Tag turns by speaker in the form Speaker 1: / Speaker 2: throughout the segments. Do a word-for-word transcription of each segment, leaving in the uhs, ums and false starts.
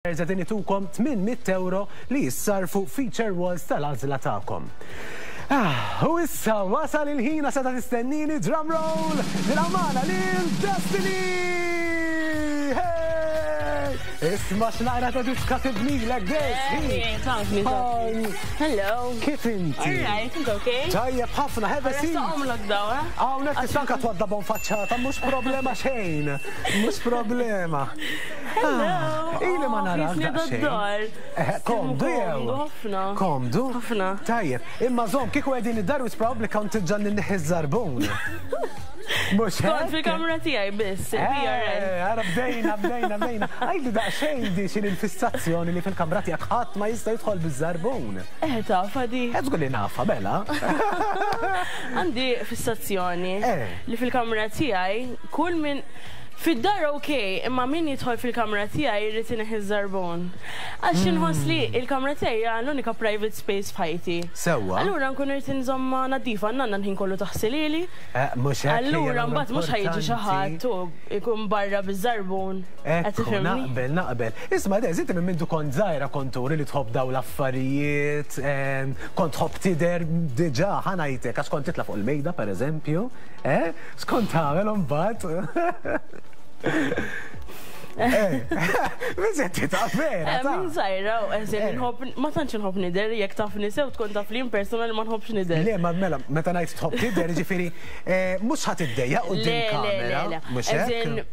Speaker 1: Qegħdin itukom tmien mitt euro li jissarfu feature walls tal-għażla tagħkom. Ah, u issa wasal il-ħin sa ta' tistennini, drum roll, nil-amana lil Destiny! Hey! Isma' x'naqra ta' diska tibnilek, Des!
Speaker 2: Hello.
Speaker 1: Kif inti?
Speaker 2: All right, inti okay?
Speaker 1: Tajjeb ħafna, have a seat.
Speaker 2: Għomlok daw, eh?
Speaker 1: Hawnhekk tista' anke twaddabhom faċċata, mhux problema xejn. Mhux problema.
Speaker 2: Hello.
Speaker 1: Ah, ili ma narak
Speaker 2: Jisni
Speaker 1: daqsxejn.
Speaker 2: d-dar.
Speaker 1: Eh, komdu jew?
Speaker 2: Komdu ħafna.
Speaker 1: Komdu?
Speaker 2: Ħafna.
Speaker 1: Tajjeb, imma żomm, kieku qegħdin id-dar is probably kont ġanni nneħħi żarbun. Mhux
Speaker 2: Kont
Speaker 1: hekk?
Speaker 2: fil-kamra tiegħi biss, il-P R N.
Speaker 1: Eh, ara bdejna, bdejna, bdejna. Għidli daqsxejn di xin il-fissazzjoni li fil-kamra tiegħek ħadd ma jista' jidħol biż-żarbun.
Speaker 2: Eh, taf, għadi.
Speaker 1: Qed tqul li nafha, bela.
Speaker 2: Għandi fissazzjoni
Speaker 1: Eh.
Speaker 2: li fil-kamra tiegħi kull min fid-dar ok, imma min jidħol fil-kamra tiegħi jrid ineħħi ż-żarbun. Għax inħoss li il-kamra tiegħi hija l-unika private space f'ħajti.
Speaker 1: Sewwa.
Speaker 2: Allura nkun irid inżomma nadifa, nanna l-ħin kollu taħsilili.
Speaker 1: Eh, mhux hekk hija.
Speaker 2: Allura mbagħad mhux ħa jiġi xi ħadd u jkun barra biż-żarbun. Qed
Speaker 1: Ekku,
Speaker 2: tifhimni?
Speaker 1: naqbel, naqbel. Isma', Dez, inti minn mindu kont żgħira kont turi li tħobb daw l-affarijiet, em, kont tħobb tidher diġà, ħa ngħidlek, għax kont titla' fuq il-mejda, per eżempju, eh? X'kont tagħmel imbagħad? Eh, biżetti ta' vera,
Speaker 2: Eh,
Speaker 1: ta'
Speaker 2: Minn żgħira, u eżin,
Speaker 1: Eh.
Speaker 2: nħobb, ma tantx nħobb nidher, jekk tafni sew tkun taf li persona li ma nħobbx nidher.
Speaker 1: Le, ma mela, meta ngħid tħobb tidher, ġifieri, eh, mhux ħa tiddejjaq quddiem
Speaker 2: Le, le,
Speaker 1: kamera,
Speaker 2: le, le.
Speaker 1: mhux hekk?
Speaker 2: Eżin,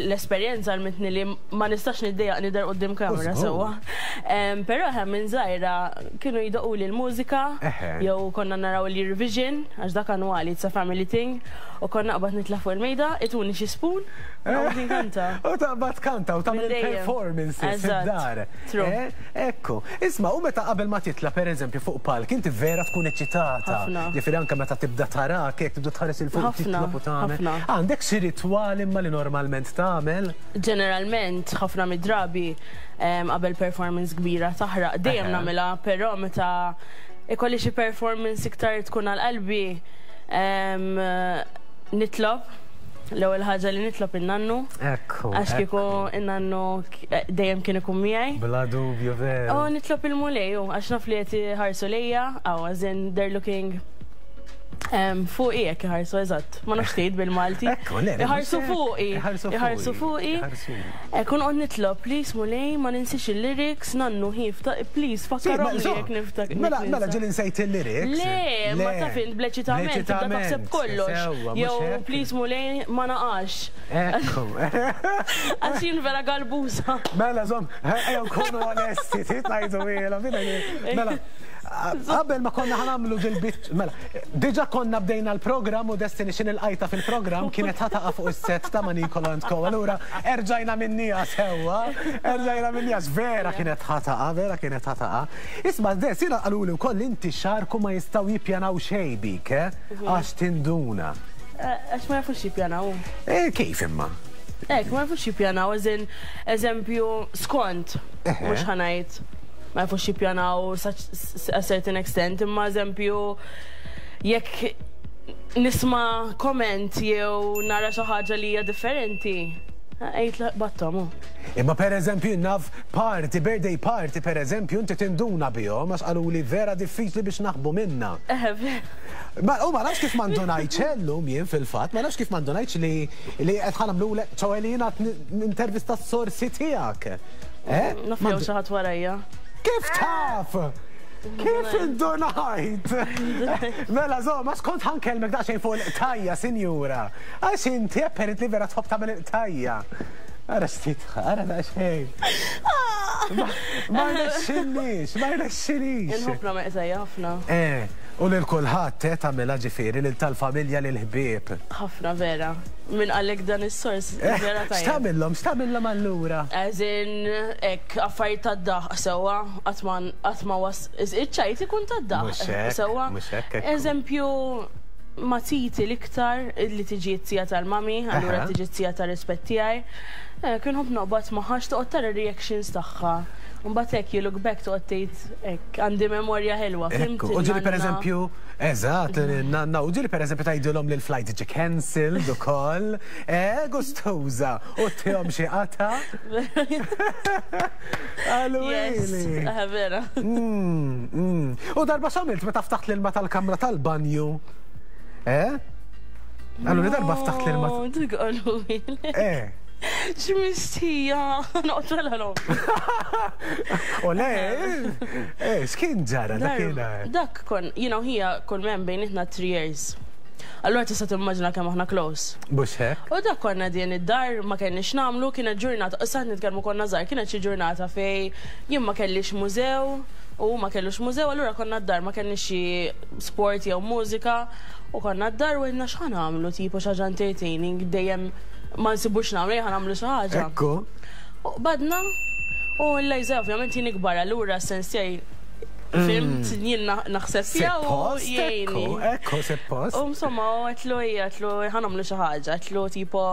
Speaker 2: l-esperjenza għallmitni li ma nistax niddejjaq nidher quddiem kamera
Speaker 1: Żgur.
Speaker 2: sewwa. Em, Però ħem minn żgħira kienu jdoqqu li l-mużika,
Speaker 1: Eħe.
Speaker 2: jew konna naraw l-Eurovision, għax dak annwali, it's a family thing, u konna naqbad nitla' fuq il-mejda, ituni xi spoon, u nkanta.
Speaker 1: U taqbad kanta u tagħmel
Speaker 2: Minn dejjem.
Speaker 1: il-performances
Speaker 2: Eżatt.
Speaker 1: fid-dar.
Speaker 2: True.
Speaker 1: Eh, Ekku. Isma', u meta qabel ma titla' per eżempju fuq palk, inti vera tkun eċitata.
Speaker 2: Ħafna.
Speaker 1: Ġifieri anke meta tibda tarak, hekk tibda tħares il fuq
Speaker 2: Ħafna,
Speaker 1: titlob u tagħmel.
Speaker 2: ħafna.
Speaker 1: Għandek xi ritwal imma li normalment tagħmel?
Speaker 2: Ġeneralment, ħafna mid-drabi em, qabel performance kbira taħraq, dejjem
Speaker 1: Eħe.
Speaker 2: nagħmilha, però meta ikolli xi performance iktar tkun għal qalbi, em, nitlob, l-ewwel ħaġa li nitlob in-nannu,
Speaker 1: Ekku.
Speaker 2: għax kieku in-nannu k- dejjem kien ikun miegħi.
Speaker 1: Bla dubju, vera.
Speaker 2: U nitlob il-Mulej, u għax naf li qed iħarsu lejja, aw as in they're looking em, fuqi jekk iħarsu eżatt, ma nafx tgħid bil-Malti.
Speaker 1: Ekku, le, le,
Speaker 2: Iħarsu
Speaker 1: mhux hekk.
Speaker 2: fuqi.
Speaker 1: Iħarsu
Speaker 2: Iħarsu fuqi.
Speaker 1: Iħarsu.
Speaker 2: Ekun qod nitlob, please Mulej, ma ninsix il-lyrics, nannu ħif, please, fakkarhom li jekk niftak.
Speaker 1: Mela, mela ġieli nsejt il-lyrics.
Speaker 2: Le, ma taf int bl-eċitament, tibda taħseb kollox.
Speaker 1: Sewwa, mhux
Speaker 2: Jew,
Speaker 1: hekk?
Speaker 2: please Mulej, ma naqax.
Speaker 1: Ekku.
Speaker 2: Għax jien vera galbusa.
Speaker 1: Mela, żomm, ejja nkunu onesti, titnajdu ila, mela, qabel ma konna ħa nagħmlu dil-bit, mela, diġà konna bdejna l-program u Destiny xin il-qajta fil-program kienet ħa taqa' fuq is-set ta' Manicolo and Co. Allura, erġajna minnija sewwa, erġajna minnija, vera kienet ħa taqa', vera kienet ħa taqa'. Isma', Des, jiena qaluli wkoll inti xarku ma jistgħu jippjanaw xejn bik, eh? Għax tinduna.
Speaker 2: Eh, Għax ma jafux jippjanaw.
Speaker 1: Eh, kif imma?
Speaker 2: Ek, ma jafux jippjanaw, eżin, eżempju, skont,
Speaker 1: Eħe.
Speaker 2: mhux ħa ngħid, ma jafux jippjanaw such a certain extent, imma eżempju, jekk nisma' comment jew nara xi ħaġa li hija differenti, għejt battom.
Speaker 1: Imma per eżempju naf party, birthday party per eżempju, inti tinduna bihom għax qalu li vera diffiċli biex naħbu minna.
Speaker 2: Eħe,
Speaker 1: Ma u ma nafx kif ma ndunajtx illum jien fil-fatt, ma nafx kif ma ndunajtx li li qed ħa nagħmlu ċoè li jiena intervista s-sorsi tiegħek. Eh?
Speaker 2: Naf
Speaker 1: Ma
Speaker 2: jew xi ħadd warajja.
Speaker 1: Kif taf? Kif indunajt? Mela, zo, ma skont ħa nkellmek daqsxejn fuq il-qtajja, sinjura. Għax inti apparently vera tħobb tagħmel il-qtajja. Ara xtitħa, ara daqsxejn. Ma rnexxilix, ma rnexxilix.
Speaker 2: Inħobb nagħmel qtajja ħafna.
Speaker 1: Eh, u lil kulħadd eh tagħmilha, ġifieri lil tal-familja, lil ħbieb.
Speaker 2: Ħafna vera. Min qallek dan is-sors vera tajjeb.
Speaker 1: X'tagħmilhom, x'tagħmilhom allura?
Speaker 2: As in, ek, affarijiet tad-daħq sewwa, qatt ma was, iċ-ċajt ikun tad-daħq.
Speaker 1: Mhux hekk,
Speaker 2: Sewwa.
Speaker 1: mhux hekk, ekku.
Speaker 2: Eżempju, ma titi l-iktar li tiġi t-tija tal-mami, allura
Speaker 1: Aha.
Speaker 2: tiġi t-tija tal-rispett tiegħi. Eh, Kien nħobb noqgħod magħha, toqgħod tara reactions tagħha. Mbagħad hekk you look back to tgħid hekk għandi memorja ħelwa, fhimt?
Speaker 1: U ġieli per eżempju, eżatt, nanna, u ġieli per eżempju tgħidilhom li l-flight ġi cancelled ukoll, eh, gustuża, u ttihom xi qata.
Speaker 2: Yes, vera.
Speaker 1: Mm, mm. U darba x'għamilt meta ftaħt l-ilma tal-kamra tal-banju? Eh? Allura darba ftaħt l-ilma.
Speaker 2: Dik qalu.
Speaker 1: Eh.
Speaker 2: X'mistija, noqtolha l
Speaker 1: U le, eh, x'kien ġara dakinhar?
Speaker 2: Dak kon, you know, hija kull men bejnietna three years. Allura tista' timmaġina kemm aħna close.
Speaker 1: Mhux hekk?
Speaker 2: U dak konna din id-dar ma kenniex nagħmlu, kienet ġurnata, issa nitkellmu konna żgħar, kienet xi ġurnata fej jien ma kellix mużew u ma kellux mużew, allura konna d-dar ma kellniex xi sport jew mużika u konna d-dar u għedna x'ħa nagħmlu tipo xi ħaġa entertaining dejjem ma nsibux nagħmlu, ħa nagħmlu xi ħaġa.
Speaker 1: Ekku.
Speaker 2: U badna u l-lejza ovvjament jien ikbar allura sens tiegħi fhimt jien naħseb fiha u jgħinni.
Speaker 1: Ekku, suppost.
Speaker 2: U insomma, għedtlu hija, għedtlu ħa nagħmlu xi ħaġa, għedtlu tipo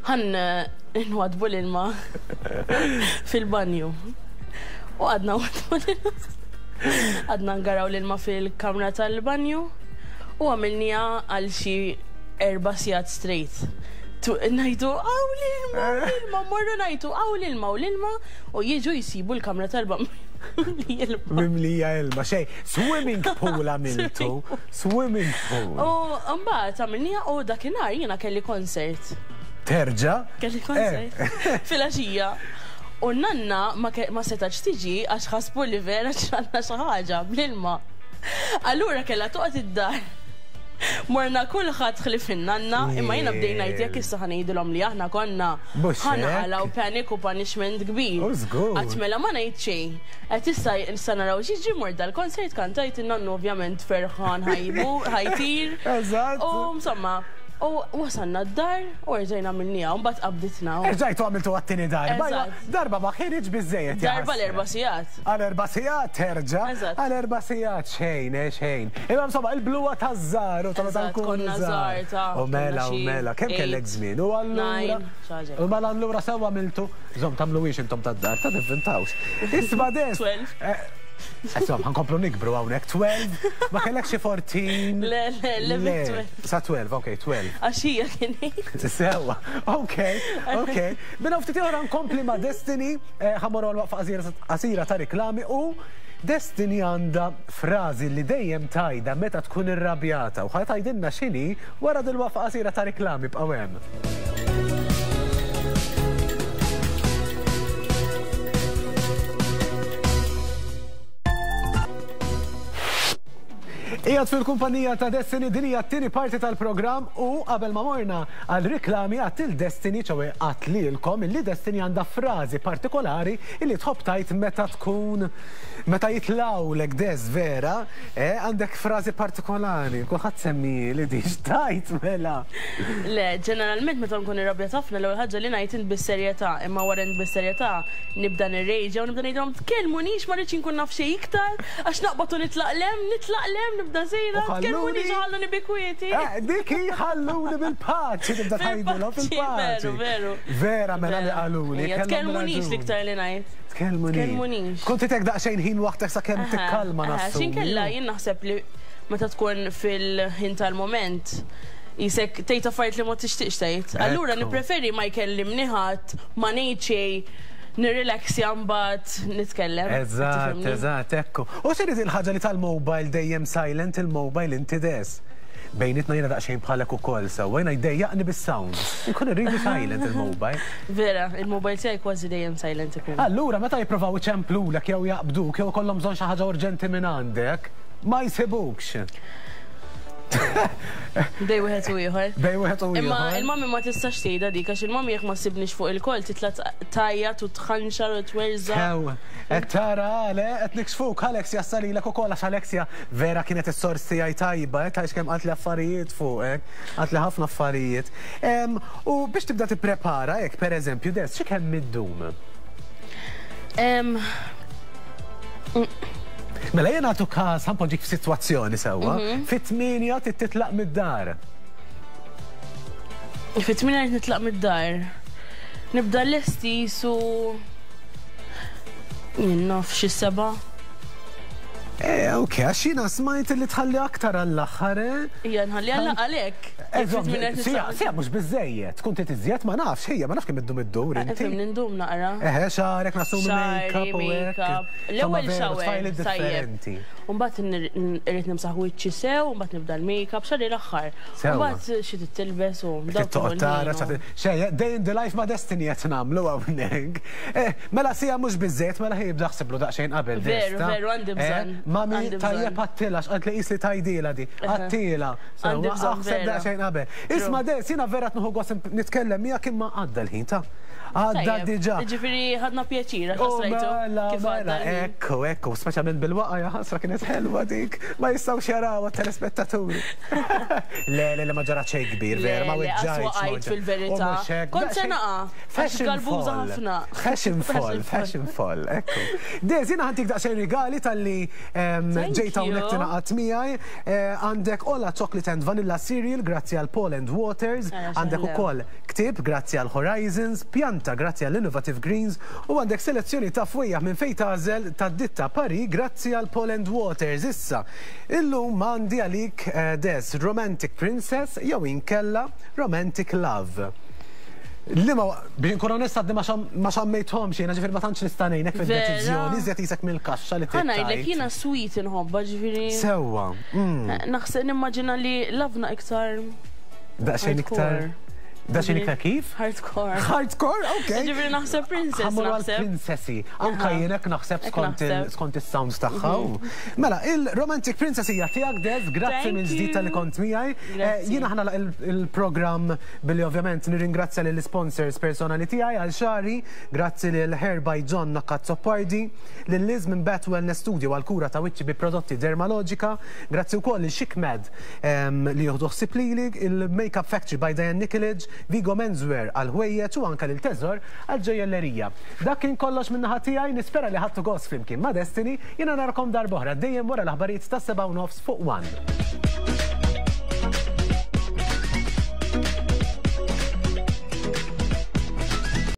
Speaker 2: ħa nwaddbu l-ilma fil-banju. U għadna nwaddbu l-ilma. Għadna ngaraw l-ilma fil-kamra tal-banju u għamilniha għal xi erba' sigħat straight. Ngħidu, hawn l-ilma, l-ilma, morru ngħidu, hawn l-ilma, u l-ilma, u jiġu jisibu l-kamra tal-banju.
Speaker 1: Mimlija ilma, xej, swimming pool għamiltu, swimming pool.
Speaker 2: U mbagħad għamilniha u dakinhar jiena kelli concert.
Speaker 1: Terġa?
Speaker 2: Kelli concert. Filgħaxija. U nanna ma setax tiġi għax ħasbu li vera ġranna xi ħaġa bl-ilma. Allura kellha toqgħod id-dar. Morna kulħadd ħlief in-nanna, imma jiena bdejna ngħid jekk issa ħa ngħidilhom li aħna konna ħa naqalgħu panic u punishment kbir. Qatt mela ma ngħid xejn. Qed issa issa naraw xi mort dal-konsert kantajt in-nannu ovvjament ferħan ħajbu ħajtir.
Speaker 1: Eżatt.
Speaker 2: U insomma, u wasalna d-dar u rġajna għamilniha u mbagħad qabditna.
Speaker 1: Erġajtu għamiltu għat-tieni darba. Darba ma kienx biżejjed.
Speaker 2: Darba l-erba' sigħat.
Speaker 1: Għal erba' sigħat terġa'. Għal erba' sigħat xejn, xejn. Imma insomma il-bluwa taż-żgħar u tal
Speaker 2: konna żgħar.
Speaker 1: U mela, u mela, kemm kellek żmien? U allura. U mela allura sewa għamiltu. Żomm tagħmluhiex intom tad-dar, ta' tivvintawx. Isma' des. Insomma, ħa nkomplu nikbru hawnhekk twelve, ma kellek xi fourteen.
Speaker 2: Le, le, le,
Speaker 1: sa twelve, ok, twelve.
Speaker 2: Għax hija kien
Speaker 1: Sewa, ok, ok. Bina ftit oħra nkompli ma' Destiny, ħa mmorru għal waqfa qasira ta' riklami u Destiny għandha frażi li dejjem tgħidha meta tkun irrabjata u ħa tgħidilna x'inhi wara dil-waqfa qasira ta' riklami bqgħu hemm. Ijad fil-kumpanija ta' Destiny, din hija t-tieni parti tal-programm u qabel ma morna għal riklami għat il-Destiny ċowe għat lilkom illi Destiny għandha frażi partikolari illi tħobb tgħid meta tkun meta jitlawlek des vera, eh, għandek frażi partikolari, kulħadd semmi li diġ tajt mela.
Speaker 2: Le, ġeneralment meta nkun irrabjat ħafna l-ewwel ħaġa li ngħid int bis-serjetà, imma wara int bis-serjetà nibda nirrejġa u nibda ngħidilhom tkellmunix ma rridx inkun naf xejn iktar għax naqbad u nitlaq lem, nitlaq lem, nibda sejra, tkellmunix ħalluni bi kwieti.
Speaker 1: Dik hi ħalluni bil-paċi, tibda tgħidilhom fil-paċi.
Speaker 2: Veru, veru.
Speaker 1: Vera mela li qaluli.
Speaker 2: Tkellmunix l-iktar li ngħid.
Speaker 1: Tkellmunix. Kont titek daqsxejn ħin waħdek sakemm tikkalma nafsu.
Speaker 2: X'inkella jien naħseb li meta tkun fil-ħin tal-moment jisek tgħid affarijiet li ma tixtieqx tgħid. Allura nippreferi ma jkellimni ħadd, ma ngħid xejn, nirrilaxja mbagħad nitkellem.
Speaker 1: Eżatt, eżatt, ekku. U x'inhi il-ħaġa li tal-mobile dejjem silent il-mobile inti des? Bejnitna jiena daqsxejn bħalek ukoll sewwa, jiena jdejjaqni bis-sound. Inkun irridu silent il-mobile.
Speaker 2: Vera, il-mobile tiegħi kważi dejjem silent ikun.
Speaker 1: Allura meta jippruvaw iċemplulek jew jaqbduk jew ikollhom bżonn xi ħaġa urġenti minn għandek, ma jsibukx.
Speaker 2: Bej wieħed u ieħor.
Speaker 1: Bej wieħed u ieħor.
Speaker 2: Imma il-mami ma tistax tgħidha dik għax il-mami jekk ma ssibniex fuq il-kol titla' tajjat u tħanxar u twerża.
Speaker 1: Ew, qed tara le qed niksfuk Alexia ssalilek ukoll għax Alexia vera kienet is-sors tiegħi tajba, qed tgħix kemm qalt li affarijiet fuqek, qalt li ħafna affarijiet. U biex tibda tipprepara hekk pereżempju des xi kemm iddum? Mela jien għatu każ ħa npoġġik f'sitwazzjoni sewwa, fit-tmienja trid titlaq mid-dar.
Speaker 2: Fit-tmienja trid nitlaq mid-dar. Nibda lesti su Jien naf xi seba'.
Speaker 1: Eh, ok, għax jiena smajt li tħalli aktar għall-aħħar, eh?
Speaker 2: Ija nħalli għalla għalek.
Speaker 1: Siegħa, siegħa mhux biżżejjed, tkun trid iżjed ma nafx, ħejja, ma nafx kemm iddum iddur inti.
Speaker 2: Ifhem nindum naqra.
Speaker 1: Eħe, xagħrek nasumi
Speaker 2: Xagħri,
Speaker 1: make-up u hekk.
Speaker 2: make-up. L-ewwel
Speaker 1: Insomma, veru,
Speaker 2: shower,
Speaker 1: tfajli
Speaker 2: tajjeb.
Speaker 1: differenti.
Speaker 2: Umbagħad irrid nimsaħ wiċċi sew, umbagħad nibda l-makeup, xagħri l-aħħar.
Speaker 1: Sewwa.
Speaker 2: Umbagħad xi tilbes u dawk
Speaker 1: Toqgħod tara,
Speaker 2: il-ħin u-
Speaker 1: xejn, day in the life ma' Destiny qed nagħmlu hawnhekk. Eh, mela siegħa mhux biżżejjed, mela ħej jibda ħsiblu daqsxejn qabel.
Speaker 2: Veru,
Speaker 1: Desta.
Speaker 2: veru, għandi
Speaker 1: Eh,
Speaker 2: bżonn,
Speaker 1: Mami,
Speaker 2: għandi bżonn.
Speaker 1: tajjeb għattila, x'qalt li qis li tajdila di. Għattila.
Speaker 2: Għandi bżonn,
Speaker 1: Aħseb
Speaker 2: vera.
Speaker 1: daqsxejn qabel. Isma' Des, jiena vera tnuħu gost nitkellem miegħek imma għadda l-ħin ta' Għadda
Speaker 2: Tajjeb.
Speaker 1: diġà.
Speaker 2: Ġifieri ħadna pjaċir, għax
Speaker 1: Oh,
Speaker 2: rajtu
Speaker 1: mela,
Speaker 2: kif
Speaker 1: mela,
Speaker 2: għadda l-ħin.
Speaker 1: ekku, ekku, speċjalment bil-waqa ja ħasra kienet ħelwa dik, ma jistgħux jaraw telespettaturi. Le, le, le, ma ġara xejn kbir,
Speaker 2: Le,
Speaker 1: vera, ma
Speaker 2: le,
Speaker 1: weġġajtx.
Speaker 2: qatt
Speaker 1: ma
Speaker 2: waqajt
Speaker 1: weġġajtx.
Speaker 2: fil-verità.
Speaker 1: U mhux hekk,
Speaker 2: Kont se
Speaker 1: daqsxejn-
Speaker 2: naqa', għax
Speaker 1: Fashion
Speaker 2: galbuża
Speaker 1: fall.
Speaker 2: ħafna.
Speaker 1: Fashion fall,
Speaker 2: Fashion fall.
Speaker 1: fashion fall, ekku. Dez, jiena ħa ntik daqsxejn rigali talli em,
Speaker 2: Thank
Speaker 1: ġejt hawnhekk
Speaker 2: you.
Speaker 1: tingħaqad miegħi. Eh, Għandek Ola Chocolate and Vanilla Cereal, grazzi għal Paul and Waters.
Speaker 2: Ara,
Speaker 1: Għandek
Speaker 2: x'ħlew.
Speaker 1: ukoll ktieb, grazzi għal Horizons, pjanta, grazzi għal Innovative Greens, u għandek selezzjoni ta' fwejjaħ minn fejn tagħżel ta' ditta Pari, grazzi għal Paul and Waters. Issa, illum għandi għalik eh, Des Romantic Princess jew inkella Romantic Love. Li ma, biex nkun onest għadni ma xam- ma xammejthomx jiena ġifieri ma tantx nista' ngħinek fid-deċiżjoni, iżjed jisek mill-kaxxa li
Speaker 2: Ħa ngħidlek
Speaker 1: tittajt.
Speaker 2: jiena sweet inħobba ġifieri.
Speaker 1: Sewwa, mm,
Speaker 2: Naħseb nimmaġina li love na iktar
Speaker 1: daqsxejn iktar.
Speaker 2: hardcore.
Speaker 1: Daqsxejn iktar kif?
Speaker 2: Hardcore.
Speaker 1: Hardcore, ok.
Speaker 2: Ġifieri naħseb princess
Speaker 1: Ħa mmorru għal
Speaker 2: naħseb.
Speaker 1: princessi. Anka
Speaker 2: Aha.
Speaker 1: jienek naħseb
Speaker 2: Hekk
Speaker 1: skont il-
Speaker 2: naħseb.
Speaker 1: skont is-sounds tagħha. Mela, il-Romantic Princess hija tiegħek Des, grazzi
Speaker 2: Thank
Speaker 1: minn ġdid
Speaker 2: you.
Speaker 1: talli kont miegħi. Eh,
Speaker 2: Grazzi.
Speaker 1: Jiena ħa nagħlaq il-programm billi ovvjament nirringrazzja lill sponsors personali tiegħi għal xagħri, grazzi lil Hair by John Nakkazzopardi, lil Liz minn Bat Wellness Studio għal kura ta' wiċċi bi prodotti Dermalogica, grazzi wkoll lil Chic Med em, li jieħdu ħsieb lili, il-Makeup Factory by Diane Nikolic, Vigo Menswear għal ħwejjeġ u anka lil Teżor għal ġojjellerija. Dak kien kollox minn naħa tiegħi, nispera li ħadtu gost flimkien ma' Destiny, jiena narakom darb'oħra dejjem wara l-aħbarijiet tas-seba' u nofs fuq One.